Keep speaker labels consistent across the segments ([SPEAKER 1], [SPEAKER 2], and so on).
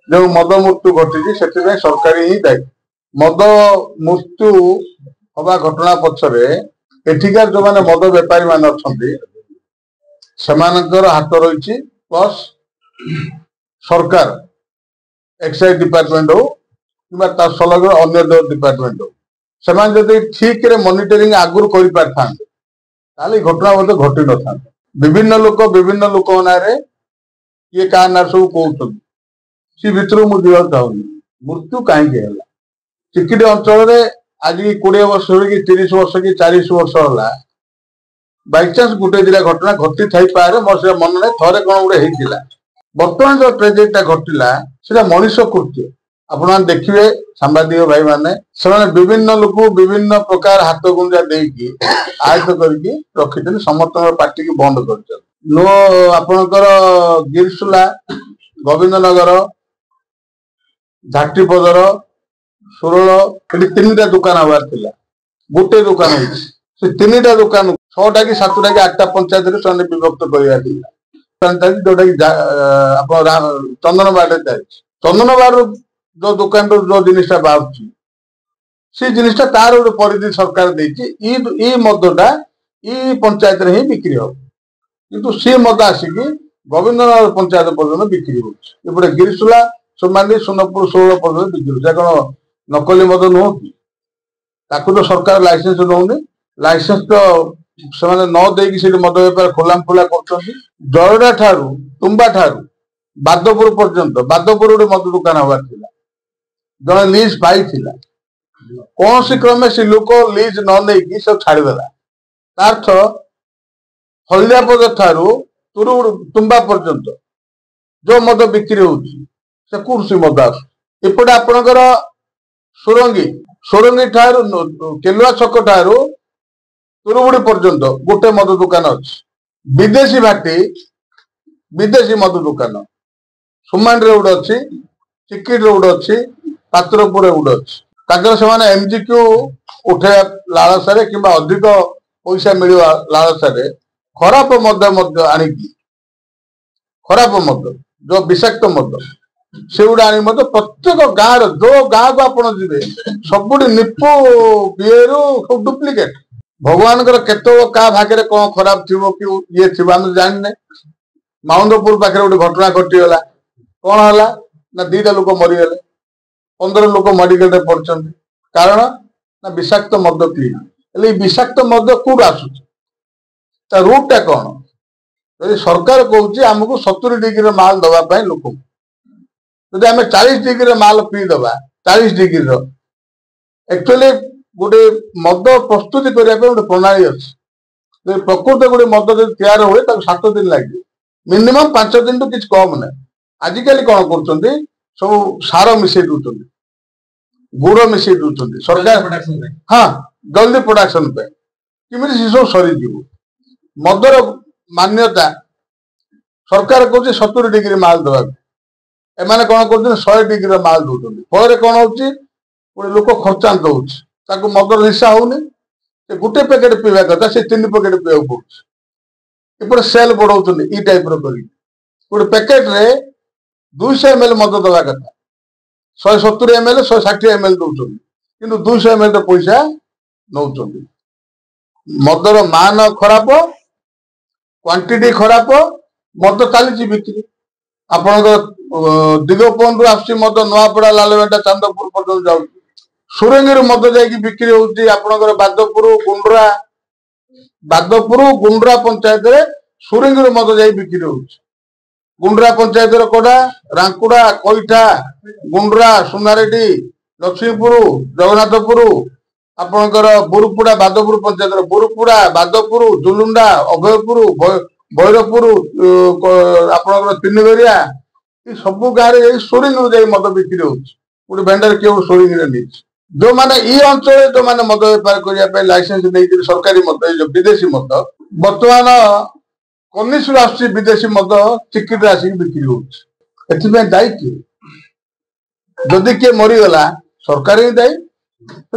[SPEAKER 1] ଯେଉଁ ମଦ ମୃତ୍ୟୁ ଘଟିଛି, ସେଥିପାଇଁ ସରକାର ହିଁ ଦାୟୀ। ମଦ ମୃତ୍ୟୁ ହବା ଘଟଣା ପଛରେ ଏଠିକାର ଯୋଉମାନେ ମଦ ବେପାରୀ ମାନେ ଅଛନ୍ତି, ସେମାନଙ୍କର ହାତ ରହିଛି, ପ୍ଲସ୍ ସରକାର, ଏକ୍ସାଇଜ ଡିପାର୍ଟମେଣ୍ଟ ହଉ କିମ୍ବା ତା ସଂଲଗ୍ନ ଅନ୍ୟ ଯୋଉ ଡିପାର୍ଟମେଣ୍ଟ ହଉ, ସେମାନେ ଯଦି ଠିକରେ ମନିଟରିଂ ଆଗରୁ କରିପାରିଥାନ୍ତେ, ତାହେଲେ ଏଇ ଘଟଣା ମଧ୍ୟ ଘଟି ନଥାନ୍ତା। ବିଭିନ୍ନ ଲୋକ ବିଭିନ୍ନ ଲୋକଙ୍କ ନାଁରେ, କିଏ କାହା ନାଁରେ ସବୁ କହୁଛନ୍ତି, ସେ ଭିତରୁ ମୁଁ ଯିବାକୁ ଚାହୁଁନି। ମୃତ୍ୟୁ କାହିଁକି ହେଲା ଚିକିଟି ଅଞ୍ଚଳରେ? ଆଜି 20 ବର୍ଷ କି 30 ବର୍ଷ କି 40 ବର୍ଷ ହେଲା, ବାଇଚାନ୍ସ ଗୋଟେ ଦିଟା ଘଟଣା ଘଟି ଥାଇପାରେ, ମୋର ସେଟା ମନେ ନାହିଁ, ଥରେ କଣ ଗୋଟେ ହେଇଥିଲା। ବର୍ତ୍ତମାନ ଯୋଉ ଟ୍ରେଜେଡିଟା ଘଟିଲା, ସେଟା ମଣିଷ କୃତ୍ୟ। ଆପଣମାନେ ଦେଖିବେ, ସାମ୍ବାଦିକ ଭାଇମାନେ, ସେମାନେ ବିଭିନ୍ନ ଲୋକଙ୍କୁ ବିଭିନ୍ନ ପ୍ରକାର ହାତ ଗୁଞ୍ଜା ଦେଇକି ଆୟତ୍ତ କରିକି ରଖିଛନ୍ତି, ସମସ୍ତଙ୍କର ପାଟିକି ବନ୍ଦ କରିଛନ୍ତି। ନୋ, ଆପଣଙ୍କର ଗିରିସୁଲା, ଗୋବିନ୍ଦନଗର, ଝାଟିପଦର, ସୁରଳ, ଏଠି ତିନିଟା ଦୋକାନ ହବାର ଥିଲା, ଗୋଟେ ଦୋକାନ ହେଇଛି। ସେ ତିନିଟା ଦୋକାନ 6ଟା କି 7ଟା କି 8ଟା ପଞ୍ଚାୟତରେ ସେମାନେ ବିଭକ୍ତ କରିବାର ଥିଲା, ଯୋଉଟା କି ଆପଣ ଚନ୍ଦନବାଡରେ ଚାଲିଛି। ଚନ୍ଦନବାଡରୁ ଯୋଉ ଦୋକାନରୁ ଯୋଉ ଜିନିଷଟା ବାହାରୁଛି, ସେ ଜିନିଷଟା ତାର ଗୋଟେ ପରିଧି ସରକାର ଦେଇଛି, ଇ ମଦଟା ଇ ପଞ୍ଚାୟତରେ ହିଁ ବିକ୍ରି ହବ। କିନ୍ତୁ ସେ ମଦ ଆସିକି ଗୋବିନ୍ଦନଗର ପଞ୍ଚାୟତ ପର୍ଯ୍ୟନ୍ତ ବିକ୍ରି ହଉଛି, ଏପଟେ ଗିରିସୁଲା, ସୁମାଲି, ସୁନପୁର, ଷୋହଳ ପର୍ଯ୍ୟନ୍ତ ବିକ୍ରି ହଉଛି। କଣ ନକଲି ମଦ ନୁହଁ କି? ତାକୁ ତ ସରକାର ଲାଇସେନ୍ସ ଦଉନି। ଲାଇସେନ୍ସ ତ ସେମାନେ ନ ଦେଇକି ସେଠି ମଦ ବେପାର ଖୋଲାମ ଖୋଲା କରୁଛନ୍ତି। ଜରଡା ଠାରୁ, ତୁମ୍ବା ଠାରୁ ବାଦପୁର ପର୍ଯ୍ୟନ୍ତ, ବାଦପୁର ଗୋଟେ ମଦ ଦୋକାନ ହବାର ଥିଲା, ଜଣେ ଲିଜ୍ ପାଇଥିଲା, କୌଣସି କ୍ରମେ ସେ ଲୋକ ଲିଜ୍ ନ ନେଇକି ସେ ଛାଡ଼ିଦେଲା। ତା ଅର୍ଥ ହଳଦିଆପଦ ଠାରୁ ତୁରୁ ତୁମ୍ବା ପର୍ଯ୍ୟନ୍ତ ଯୋଉ ମଦ ବିକ୍ରି ହଉଛି, ସେ କୋଉଠୁ ସେ ମଦ ଆସୁଛି? ଏପଟେ ଆପଣଙ୍କର ସୁରଙ୍ଗୀ, ସୁରଙ୍ଗୀ ଠାରୁ, କେଲୁଆ ଛକ ଠାରୁ ତୁରୁବୁଡି ପର୍ଯ୍ୟନ୍ତ ଗୋଟେ ମଦ ଦୋକାନ ଅଛି। ବିଦେଶୀ ଭାଟି, ବିଦେଶୀ ମଦ ଦୋକାନ ସୁମାଣ୍ଡିରେ ଗୋଟେ ଅଛି, ଚିକିଟିରେ ଗୋଟେ ଅଛି, ପାତ୍ରପୁରରେ ଗୋଟେ ଅଛି। ତାଙ୍କର ସେମାନେ ଏମଜିକ୍ୟୁ ଉଠେଇବା ଲାଳସାରେ କିମ୍ବା ଅଧିକ ପଇସା ମିଳିବା ଲାଳସାରେ ଖରାପ ମଦ ମଧ୍ୟ ଆଣିକି, ଖରାପ ମଦ, ଯୋଉ ବିଷାକ୍ତ ମଦ, ସେଗୁଡା ଆଣି ମଧ୍ୟ ପ୍ରତ୍ୟେକ ଗାଁର, ଯୋଉ ଗାଁକୁ ଆପଣ ଯିବେ, ସବୁଠି ନିପୁ ବିଏରୁ ସବୁ ଡୁପ୍ଲିକେଟ। ଭଗବାନଙ୍କର କେତେବେଳେ କାହା ଭାଗ୍ୟରେ କଣ ଖରାପ ଥିବ କି ଇଏ ଥିବ, ଆମେ ଜାଣିନେ। ମାଉନ୍ଦପୁର ପାଖରେ ଗୋଟେ ଘଟଣା ଘଟିଗଲା। କଣ ହେଲା ନା ଦିଟା ଲୋକ ମରିଗଲେ, 15 ଲୋକ ମେଡିକାଲରେ ପଡିଛନ୍ତି। କାରଣ ନା ବିଷାକ୍ତ ମଦ ପିଇ। ହେଲେ ଏଇ ବିଷାକ୍ତ ମଦ କୋଉଠୁ ଆସୁଛି? ତା ରୁଟ୍ ଟା କଣ? ଯଦି ସରକାର କହୁଛି ଆମକୁ 70 ଡିଗ୍ରୀର ମାଲ ଦବା ପାଇଁ ଲୋକଙ୍କୁ, ଯଦି ଆମେ 40 ଡିଗ୍ରୀର ମାଲ ପିଇଦବା, 40 ଡିଗ୍ରୀର, ଆକ୍ଚୁଆଲି ଗୋଟେ ମଦ ପ୍ରସ୍ତୁତି କରିବା ପାଇଁ ଗୋଟେ ପ୍ରଣାଳୀ ଅଛି। ଯଦି ପ୍ରକୃତ ଗୋଟେ ମଦ ଯଦି ତିଆରି ହୁଏ, ତାକୁ 7 ଦିନ ଲାଗିବ ମିନିମମ୍, 5 ଦିନଠୁ କିଛି କମ ନାହିଁ। ଆଜିକାଲି କଣ କରୁଛନ୍ତି? ସବୁ ସାର ମିଶେଇ ଦଉଛନ୍ତି, ଗୁଡ ମିଶେଇ ଦଉଛନ୍ତି ସରକାର, ହଁ, ଜଲ୍ଦି ପ୍ରଡକ୍ସନ ପାଇଁ, କେମିତି ସେ ସବୁ ସରିଯିବ। ମଦର ମାନ୍ୟତା, ସରକାର କହୁଛି 70 ଡିଗ୍ରୀ ମାଲ ଦେବାକୁ, ଏମାନେ କଣ କରୁଛନ୍ତି? 100 ଡିଗ୍ରୀର ମାଲ ଦଉଛନ୍ତି। ଫଳରେ କଣ ହଉଛି? ଗୋଟେ ଲୋକ ଖର୍ଚ୍ଚାନ୍ତ ହଉଛି, ତାକୁ ମଦର ନିଶା ହଉନି। ସେ ଗୋଟେ ପ୍ୟାକେଟ ପିଇବା କଥା, ସେ 3 ପ୍ୟାକେଟ ପିଇବାକୁ ପଡୁଛି। ଏପଟେ ସେଲ୍ ବଢଉଛନ୍ତି ଏଇ ଟାଇପର କରିକି। ଗୋଟେ ପ୍ୟାକେଟରେ 200 ଏମ ଏଲ ମଦ ଦେବା କଥା, 170 ଏମ ଏଲ, 160 ଏମ ଏଲ ଦଉଛନ୍ତି, କିନ୍ତୁ 200 ଏମ ଏଲ ର ପଇସା ନଉଛନ୍ତି। ମଦର ମାନ ଖରାପ, କ୍ୱାଣ୍ଟିଟି ଖରାପ, ମଦ ଚାଲିଛି ବିକ୍ରି। ଆପଣଙ୍କର ଦିଗପହଣ୍ଡିରୁ ଆସୁଛି ମଦ, ନୂଆପଡା, ଲାଲବେଣ୍ଟା, ଚାନ୍ଦପୁର ପର୍ଯ୍ୟନ୍ତ ଯାଉଛି। ସୁରଙ୍ଗୀରୁ ମଦ ଯାଇକି ବିକ୍ରି ହଉଛି ଆପଣଙ୍କର ବାଦପୁର, ଗୁଣ୍ଡ୍ରା, ବାଦପୁର ଗୁଣ୍ଡ୍ରା ପଞ୍ଚାୟତରେ ସୁରଙ୍ଗୀରୁ ମଦ ଯାଇ ବିକ୍ରି ହଉଛି। ଗୁଣ୍ଡ୍ରା ପଞ୍ଚାୟତର କୋଡା, ରାଙ୍କୁଡା, କଇଠା, ଗୁଣ୍ଡ୍ରା, ସୁନାରେଡି, ଲକ୍ଷ୍ମୀପୁର, ଜଗନ୍ନାଥପୁର, ଆପଣଙ୍କର ବୁରୁପୁଡା, ବାଦପୁର ପଞ୍ଚାୟତର ବୁରୁପୁଡା, ବାଦପୁର, ଜୁଲୁଣ୍ଡା, ଅଭୟପୁର, ଭୈରବପୁର, ଆପଣଙ୍କର ତିନିଘରିଆ, ଏ ସବୁ ଗାଁରେ ଯାଇ ସୁରିଙ୍ଗରୁ ଯାଇ ମଦ ବିକ୍ରି ହଉଛି। ଗୋଟେ ଭେଣ୍ଡର କିଏ ଗୋଟେ ସୁରିଙ୍ଗରେ ନେଇଛି। ଯୋଉମାନେ ଏଇ ଅଞ୍ଚଳରେ ଯୋଉମାନେ ମଦ ବେପାର କରିବା ପାଇଁ ଲାଇସେନ୍ସ ନେଇଥିଲେ ସରକାରୀ ମଦ, ଏଇ ଯୋଉ ବିଦେଶୀ ମଦ, ବର୍ତ୍ତମାନ କନିଷରୁ ଆସୁଛି ବିଦେଶୀ ମଦ, ଚିକିଟିରେ ଆସିକି ବିକ୍ରି ହଉଛି। ଏଥିପାଇଁ ଦାୟୀ କିଏ? ଯଦି କିଏ ମରିଗଲା, ସରକାର ହିଁ ଦାୟୀ।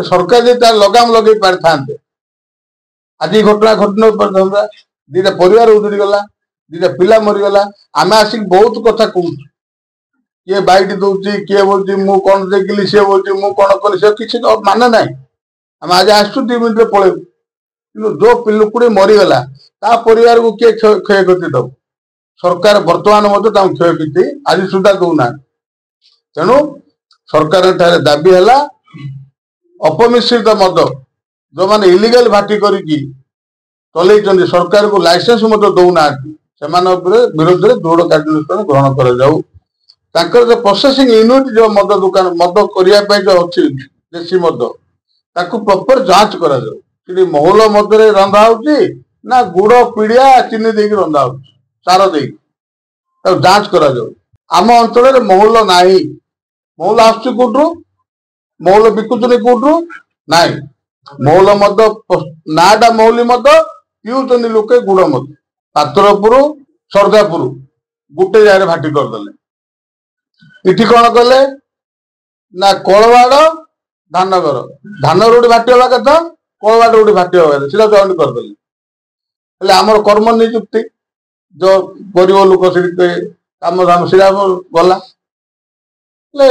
[SPEAKER 1] ସରକାର ଯଦି ତାର ଲଗାମ ଲଗେଇ ପାରିଥାନ୍ତେ, ଆଜି ଘଟଣା ଘଟି ନ ପାରିଥାନ୍ତା। ଦିଟା ପରିବାର ଉଜୁଡ଼ି ଗଲା, ଦିଟା ପିଲା ମରିଗଲା। ଆମେ ଆସିକି ବହୁତ କଥା କହୁଛୁ। କିଏ ବାଇଟ୍ ଦଉଛି, କିଏ ବଲୁଛି ମୁଁ କଣ ଦେଖିଲି, ସିଏ ବଲୁଛି ମୁଁ କଣ କଲି, ସେ କିଛି ତ ମାନେ ନାହିଁ। ଆମେ ଆଜି ଆସୁଛୁ, 2 ମିନିଟରେ ପଳେଇବୁ। କିନ୍ତୁ ଯୋଉ ଲୋକଟି ମରିଗଲା ତା ପରିବାରକୁ କିଏ କ୍ଷୟକ୍ଷତି ଦବ? ସରକାର ବର୍ତ୍ତମାନ ମଧ୍ୟ ତାଙ୍କୁ କ୍ଷୟକ୍ଷତି ଆଜି ସୁଦ୍ଧା ଦଉନାହାନ୍ତି। ତେଣୁ ସରକାରଙ୍କ ଠାରେ ଦାବି ହେଲା, ଅପମିଶ୍ରିତ ମଦ ଯୋଉମାନେ ଇଲିଗାଲ ଭାଟି କରିକି ଚଲେଇଛନ୍ତି, ସରକାରକୁ ଲାଇସେନ୍ସ ମଧ୍ୟ ଦଉନାହାନ୍ତି, ସେମାନଙ୍କ ଉପରେ ବିରୋଧରେ ଦୃଢ କାର୍ଯ୍ୟାନୁଷ୍ଠାନ ଗ୍ରହଣ କରାଯାଉ। ତାଙ୍କର ଯୋଉ ପ୍ରୋସେସିଂ ୟୁନିଟ୍, ଯୋଉ ମଦ ଦୋକାନ ମଦ କରିବା ପାଇଁ ଯୋଉ ଅଛି ଦେଶୀ ମଦ, ତାକୁ ପ୍ରପର ଯାଞ୍ଚ କରାଯାଉ। ସେଠି ମହୁଲ ମଦରେ ରନ୍ଧା ହଉଛି ନା ଗୁଡ ପିଡିଆ ଚିନି ଦେଇକି ରନ୍ଧା ହଉଛି, ସାର ଦେଇକି, ତାକୁ ଯାଞ୍ଚ କରାଯାଉ। ଆମ ଅଞ୍ଚଳରେ ମହୁଲ ନାହିଁ। ମହୁଲ ଆସୁଛି କୋଉଠୁ? ମହୁଲ ବିକୁଛନ୍ତି କୋଉଠୁ? ନାହିଁ। ମହୁଲ ମଦ ନାଁଟା ମହୁଲି ମଦ, ପିଉଛନ୍ତି ଲୋକେ ଗୁଡ ମଦ। ପାତ୍ରପୁର ସର୍ଦ୍ଦାପୁର ଗୋଟେ ଜାଗାରେ ଭାଟି କରିଦେଲେ। ଏଠି କଣ କଲେ ନା କଳବାଡ ଧାନଘର, ଧାନଘର ଗୋଟେ ଭାଟି ହବା କଥା, କଳବାଡ ଗୋଟେ ଭାଟି ହବା କଥା, ସେଟା ଜଏଣ୍ଟ କରିଦେଲେ। ହେଲେ ଆମର କର୍ମ ନିଯୁକ୍ତି ଯୋଉ ଗରିବ ଲୋକ ସେଠି କାମ ଧାମ ସେଟା ଗଲା। ହେଲେ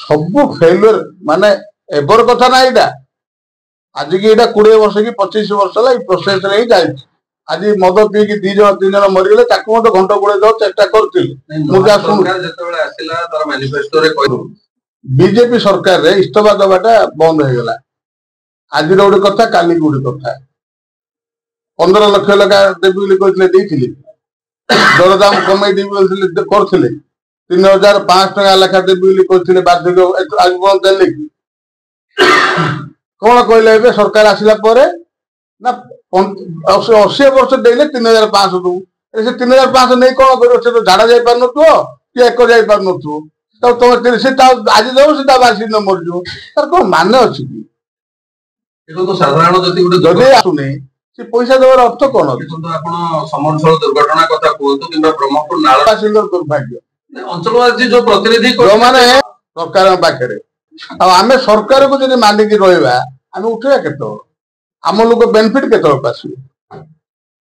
[SPEAKER 1] ସବୁ ଫେଲୁଅର, ମାନେ ଏବର କଥା ନା, ଏଇଟା ଆଜିକି ଏଇଟା 20 ବର୍ଷ କି 25 ବର୍ଷ ହେଲା ଏଇ ପ୍ରୋସେସରେ ହିଁ ଚାଲିଛି। ଆଜି ମଦ ପିଇକି 2 ଜଣ 3 ଜଣ ମରିଗଲେ, ତାକୁ ମଧ୍ୟ ଘଣ୍ଟ ଘୋଡେଇ ଦେବାକୁ ଚେଷ୍ଟା କରୁଥିଲେ। ମୁଁ ଯାହା ଶୁଣୁଛି,
[SPEAKER 2] ଯେତେବେଳେ ଆସିଲା ତାର ମ୍ୟାନିଫେଷ୍ଟୋରେ କହିବ
[SPEAKER 1] ବିଜେପି ସରକାରରେ ଇସ୍ତଫା ଦେବାଟା ବନ୍ଦ ହେଇଗଲା। ଆଜିର ଗୋଟେ କଥା, କାଲି ଗୋଟେ କଥା। 15 ଲକ୍ଷ ଲେଖା ଦେବି ବୋଲି କହିଥିଲେ, ଦେଇଥିଲେ। ଦରଦାମ କମେଇ ଦେବି ବୋଲି କରୁଥିଲେ। 3500 ଟଙ୍କା ଲେଖା ଦେବି ବୋଲି କହିଥିଲେ ବାର୍ଦ୍ଧକ୍ୟ, ଆଜି ପର୍ଯ୍ୟନ୍ତ ଦେଲେ କି? କଣ କହିଲେ ଏବେ ସରକାର ଆସିଲା ପରେ? ନା 80 ବର୍ଷ ଦେଲେ 3500 ଦବୁ। ସେ 3500 ନେଇ କଣ କରିବ? ସେ ତ ଝାଡା ଯାଇପାରୁନଥିବ କି ଏକ ଯାଇପାରୁନଥିବ। ତାକୁ ତମେ ସେ ତା ଆଜି ଦେବ, ସେ ତା ବାସି ଦିନ ମରିଯିବ। ତାର କଣ ମାନେ ଅଛି କି?
[SPEAKER 2] ଦେଖନ୍ତୁ, ସାଧାରଣ ଯଦି ଗୋଟେ
[SPEAKER 1] ଯଦି ଆସୁନି, ସେ ପଇସା ଦେବାର ଅର୍ଥ କଣ ଅଛି?
[SPEAKER 2] ଦେଖନ୍ତୁ, ଆପଣ ସମରଝୋଳ ଦୁର୍ଘଟଣା କଥା କୁହନ୍ତୁ କିମ୍ବା ବ୍ରହ୍ମପୁର ନାଳ
[SPEAKER 1] ଦୁର୍ଭାଗ୍ୟ
[SPEAKER 2] ଅଞ୍ଚଳବାସୀ ଯୋଉ ପ୍ରତିନିଧି
[SPEAKER 1] ଯୋଉମାନେ ସରକାରଙ୍କ ପାଖରେ, ଆଉ ଆମେ ସରକାରକୁ ଯଦି ମାନିକି ରହିବା, ଆମେ ଉଠେଇବା କେତେବେଳେ? ଆମ ଲୋକ ବେନିଫିଟ କେତେବେଳେ ଆସିବ?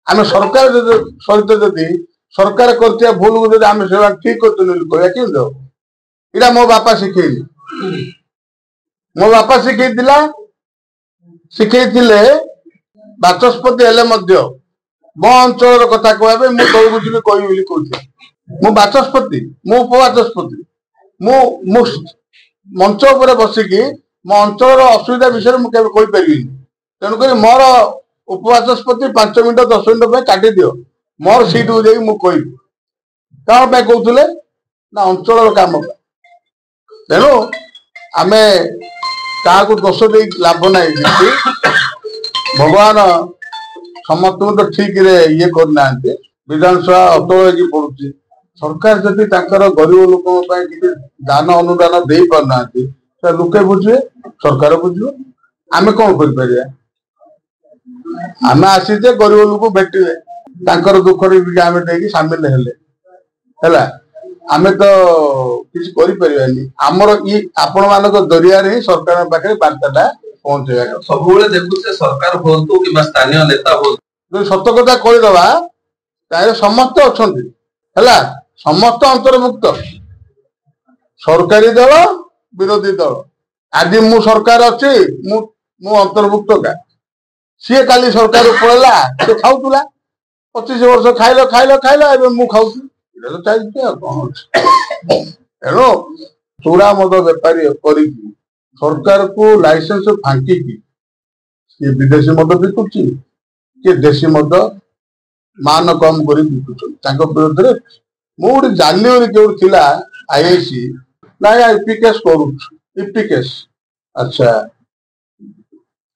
[SPEAKER 1] ଆମେ ସରକାର ଯଦି ସହିତ ଯଦି ସରକାର କରିଥିବା ଭୁଲକୁ ଯଦି ଆମେ ସେମାନେ ଠିକ କରୁଛନ୍ତି ବୋଲି କହିବା, କେମିତି ହବ? ଏଇଟା ମୋ ବାପା ଶିଖେଇଲି। ମୋ ବାପା ଶିଖେଇଥିଲା, ଶିଖେଇଥିଲେ ବାଚସ୍ପତି ହେଲେ ମଧ୍ୟ ମୋ ଅଞ୍ଚଳର କଥା କହିବା ପାଇଁ ମୁଁ ତଳକୁ ଯିବି କହିବି ବୋଲି କହୁଥିଲି। ମୁଁ ବାଚସ୍ପତି, ମୁଁ ଉପବାଚସ୍ପତି, ମୁଁ ମୁଁ ମଞ୍ଚ ଉପରେ ବସିକି ମୋ ଅଞ୍ଚଳର ଅସୁବିଧା ବିଷୟରେ ମୁଁ କେବେ କହିପାରିବିନି। ତେଣୁକରି ମୋର ଉପବାଚସ୍ପତି 5 ମିନିଟ 10 ମିନିଟ ପାଇଁ କାଟିଦିଅ, ମୋର ସିଟକୁ ଯାଇକି ମୁଁ କହିବି। କଣ ପାଇଁ କହୁଥିଲେ ନା ଅଞ୍ଚଳର କାମ ପାଇଁ। ତେଣୁ ଆମେ କାହାକୁ ଦୋଷ ଦେଇ ଲାଭ ନାହିଁ କିଛି। ଭଗବାନ ସମସ୍ତଙ୍କୁ ତ ଠିକରେ ଇଏ କରିନାହାନ୍ତି। ବିଧାନସଭା ଅଟଳ ହେଇକି ପଡୁଛି। ସରକାର ଯଦି ତାଙ୍କର ଗରିବ ଲୋକଙ୍କ ପାଇଁ କିଛି ଦାନ ଅନୁଦାନ ଦେଇ ପାରୁନାହାନ୍ତି, ଲୋକେ ବୁଝିବେ, ସରକାର ବୁଝିବ। ଆମେ କଣ କରିପାରିବା? ଆମେ ଆସିଛେ, ଗରିବ ଲୋକ ଭେଟିଲେ, ତାଙ୍କର ଦୁଃଖରେ ଟିକେ ଆମେ ଦେଇକି ସାମିଲ ହେଲେ ହେଲା। ଆମେ ତ କିଛି କରିପାରିବାନି। ଆମର ଇ ଆପଣ ମାନଙ୍କ ଜରିଆରେ ହିଁ ସରକାରଙ୍କ ପାଖରେ ବାର୍ତ୍ତାଟା ପହଞ୍ଚେଇବା।
[SPEAKER 2] ସବୁବେଳେ ଦେଖୁଛେ, ସରକାର ହୁଅନ୍ତୁ କିମ୍ବା ସ୍ଥାନୀୟ ନେତା ହୁଅନ୍ତୁ,
[SPEAKER 1] ଯଦି ସତ କଥା କହିଦବା, ତାହେଲେ ସମସ୍ତେ ଅଛନ୍ତି, ହେଲା, ସମସ୍ତେ ଅନ୍ତର୍ଭୁକ୍ତ, ସରକାରୀ ଦଳ, ବିରୋଧୀ ଦଳ। ଆଜି ମୁଁ ସରକାର ଅଛି, ମୁଁ ଅନ୍ତର୍ଭୁକ୍ତ କା। ସିଏ କାଲି ସରକାର ପଳେଇଲା, ସେ ଖାଉଥିଲା 25 ବର୍ଷ, ଖାଇଲ ଖାଇଲ ଖାଇଲ, ଏବେ ମୁଁ ଖାଉଛି। ଏଇଟା ତ ଚାଲିଛି, ଆଉ କଣ ଅଛି? ତେଣୁ ଚୋରା ମଦ ବେପାରୀ କରିକି ସରକାରକୁ ଲାଇସେନ୍ସ ଫାଙ୍କିକି କିଏ ବିଦେଶୀ ମଦ ବିକୁଛି, କିଏ ଦେଶୀ ମଦ ମାନ କମ କରି ବିକୁଛନ୍ତି, ତାଙ୍କ ବିରୋଧରେ ମୁଁ ଗୋଟେ ଜାଣିଲି ବୋଲି କେଉଁଠି ଥିଲା ଆଇଆଇସି ନାଇଁ, ଇପି କେସ୍ କରୁଛୁ। ଇପି କେସ୍, ଆଚ୍ଛା,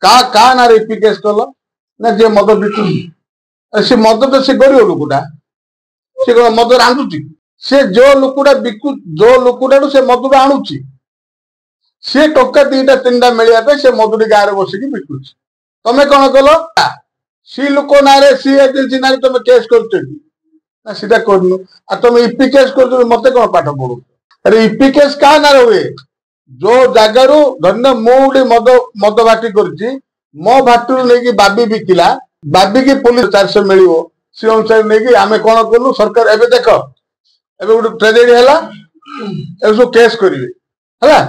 [SPEAKER 1] କାହା କାହା ନାଁରେ ଇପି କେସ୍ କଲ? ନା ଯିଏ ମଦ ବିକୁଛି। ସେ ମଦ ତ ସେ ଗରିବ ଲୋକଟା, ସେ କଣ ମଦ ରାନ୍ଧୁଛି? ସେ ଯୋଉ ଲୋକଟା ବିକୁ, ଯୋଉ ଲୋକଟାଠୁ ସେ ମଦଟା ଆଣୁଛି, ସେ ଟଙ୍କା 2ଟା 3ଟା ମିଳିବା ପାଇଁ ସେ ମଦୁଟି ଗାଁରେ ବସିକି ବିକୁଛି। ତମେ କଣ କଲ? ସି ଲୋକ ନାଁରେ, ସି ଏଜେନ୍ସି ନାଁରେ ତମେ କେସ୍ କରୁଛ କି ନା? ସେଟା କରୁନୁ, ଆଉ ତମେ ଇପି କେସ୍ କରୁଛ, ମତେ କଣ ପାଠ ପଢୁଛ? ଆରେ, ଇପି କେସ୍ କାହା ନାଁରେ ହୁଏ? ଯୋଉ ଜାଗାରୁ ଧରିନିଅ ମୁଁ ଗୋଟେ ମଦ ଭାଟି କରିଛି, ମୋ ଭାଟିରୁ ନେଇକି ବାବି ବିକିଲା, ବାବିକି ପୋଲିସ 400 ମିଳିବ, ସେ ଅନୁସାରେ ନେଇକି ଆମେ କଣ କଲୁ? ସରକାର ଏବେ ଦେଖ, ଏବେ ଗୋଟେ ଟ୍ରାଜେଡି ହେଲା, ଏ ସବୁ କେସ୍ କରିବେ। ହେଲା,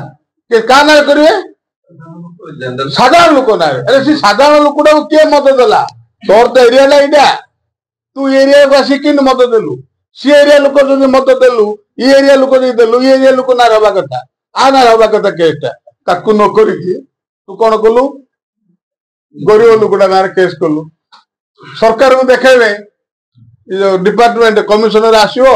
[SPEAKER 1] କାହା ନାଁରେ କରିବେ? ସାଧାରଣ ଲୋକ ନାଁରେ। ଆରେ, ସେ ସାଧାରଣ ଲୋକଟାକୁ କିଏ ମତ ଦେଲା? ତୋର ତ ଏରିଆଟା ଏଇଟା, ତୁ ଏରିଆକୁ ଆସିକି କେମିତି ମତ ଦେଲୁ? ସିଏ ଏରିଆ ଲୋକ ଯଦି ମତ ଦେଲୁ, ଇ ଏରିଆ ଲୋକ ଯଦି ଦେଲୁ, ଇ ଏରିଆ ଲୋକ ନାଁରେ ହବା କଥା, ଆ ନାଁରେ ହବା କଥା କେସ୍ଟା। ତାକୁ ନ କରିକି ତୁ କଣ କଲୁ? ଗରିବ ଲୋକଟା ନାଁରେ କେସ୍ କଲୁ। ସରକାରକୁ ଦେଖେଇବେ, ଯୋଉ ଡିପାର୍ଟମେଣ୍ଟ କମିଶନର ଆସିବ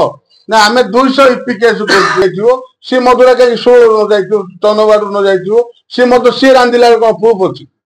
[SPEAKER 1] ନା, ଆମେ 200 ଇପି କେସ୍ ଯାଇଥିବ, ସିଏ ମଦୁରା କାହିଁକି 16 ନ ଯାଇଥିବ, ଚନ୍ଦନବାଡରୁ ନ ଯାଇଥିବ? ସିଏ ମଦ ସିଏ ରାନ୍ଧିଲା, କଣ ପ୍ରୁଫ୍ ଅଛି?